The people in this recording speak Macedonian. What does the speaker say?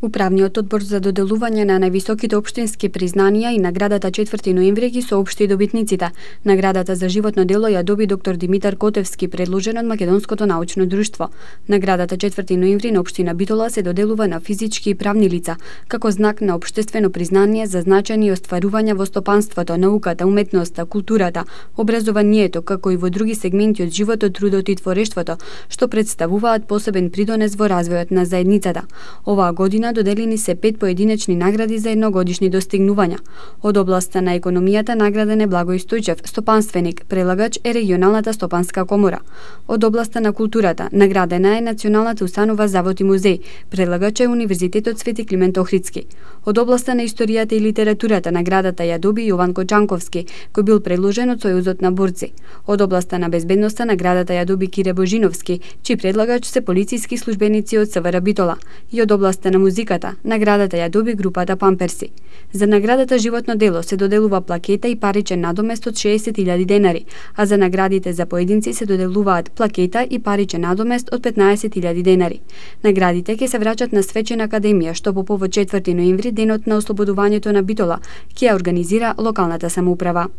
Управниот одбор за доделување на највисоките општински признанија и наградата 4 ноември ги соопшти добитниците. Наградата за животно дело ја доби доктор Димитар Котевски, предложен од Македонското научно друштво. Наградата 4 ноември на општина Битола се доделува на физички и правни лица, како знак на општествено признание за значајни остварувања во стопанството, науката, уметноста, културата, образованието, како и во други сегменти од животот, трудот и творештвото, што представуваат посебен придонес во развојот на заедницата. Оваа година доделени се 5 поединечни награди за едногодишни достигнувања. Од областа на економијата награден е Благој Стојчев, стопанственик, прелагач е регионалната стопанска комора. Од областа на културата наградена е Националната установа Завод и музеј, прелагач е Универзитетот Свети Климент Охридски. Од областа на историјата и литературата наградата ја доби Јован Кочанковски, кој бил предложен од Сојузот на борци. Од областа на безбедноста наградата ја доби Кире Божиновски, чиј предлагач се полициски службеници од СВР Битола. И од областа на музиката наградата ја доби групата Памперси. За наградата животно дело се доделува плакета и паричен надомест од 60.000 денари, а за наградите за поединци се доделуваат плакета и паричен надомест од 15.000 денари. Наградите ќе се враќат на Свечена академија, што по повод 4 ноември, денот на ослободувањето на Битола, ќе ја организира локалната самоуправа.